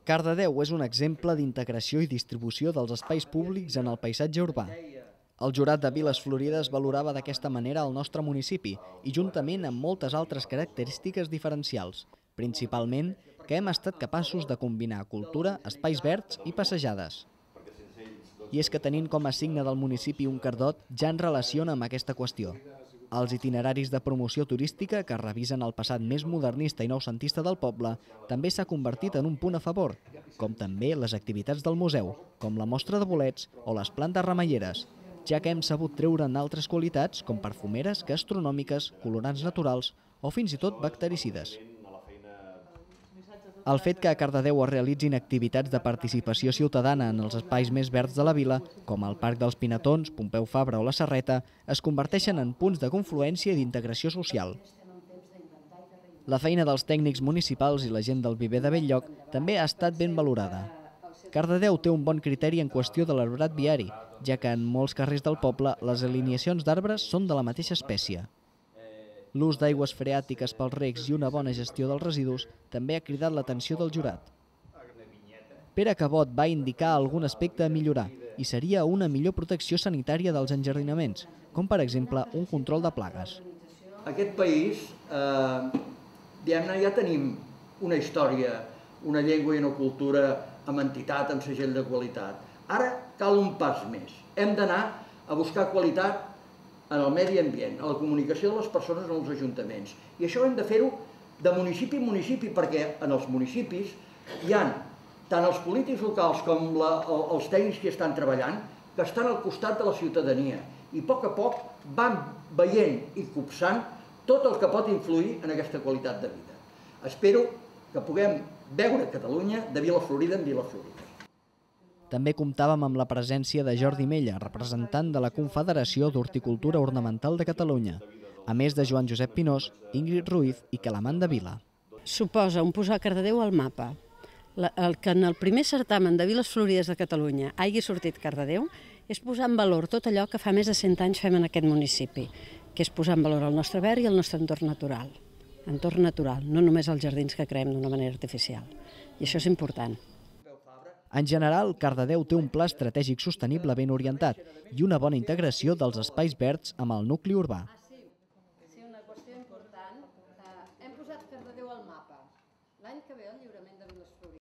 Cardedeu és un exemple d'integració i distribució dels espais públics en el paisatge urbà. El jurat de Viles Florides valorava d'aquesta manera el nostre municipi i juntament amb moltes altres característiques diferencials, principalment que hem estat capaços de combinar cultura, espais verds i passejades. I és que tenint com a signe del municipi un cardot ja en relaciona amb aquesta qüestió. Els itineraris de promoció turística que revisen el passat més modernista i noucentista del poble també s'ha convertit en un punt a favor, com també les activitats del museu, com la mostra de bolets o les plantes remeieres, ja que hem sabut treure'n altres qualitats com perfumeres, gastronòmiques, colorants naturals o fins i tot bactericides. El fet que a Cardedeu es realitzin activitats de participació ciutadana en els espais més verds de la vila, com el Parc dels Pinatons, Pompeu Fabra o la Serreta, es converteixen en punts de confluència i d'integració social. La feina dels tècnics municipals i la gent del viver de Bell-lloc també ha estat ben valorada. Cardedeu té un bon criteri en qüestió de l'arbrat viari, ja que en molts carrers del poble les alineacions d'arbres són de la mateixa espècie. L'ús d'aigües freàtiques pels recs i una bona gestió dels residus també ha cridat l'atenció del jurat. Pere Cabot va indicar algun aspecte a millorar i seria una millor protecció sanitària dels enjardinaments, com per exemple un control de plagues. Aquest país ja tenim una història, una llengua i una cultura amb entitat, amb segell de qualitat. Ara cal un pas més. Hem d'anar a buscar qualitat en el medi ambient, a la comunicació de les persones en els ajuntaments. I això hem de fer-ho de municipi en municipi, perquè en els municipis hi ha tant els polítics locals com els tècnics que estan treballant, que estan al costat de la ciutadania i a poc van veient i copsant tot el que pot influir en aquesta qualitat de vida. Espero que puguem veure Catalunya de Vila Florida en Vila Florida. També comptàvem amb la presència de Jordi Mella, representant de la Confederació d'Horticultura Ornamental de Catalunya, a més de Joan Josep Pinós, Ingrid Ruiz i Calamanda Vila. Suposa un posar Cardedeu al mapa. El que en el primer certamen de Viles Florides de Catalunya hagi sortit Cardedeu és posar en valor tot allò que fa més de 100 anys fem en aquest municipi, que és posar en valor el nostre verd i el nostre entorn natural. Entorn natural, no només els jardins que creem d'una manera artificial. I això és important. En general, Cardedeu té un pla estratègic sostenible ben orientat i una bona integració dels espais verds amb el nucli urbà.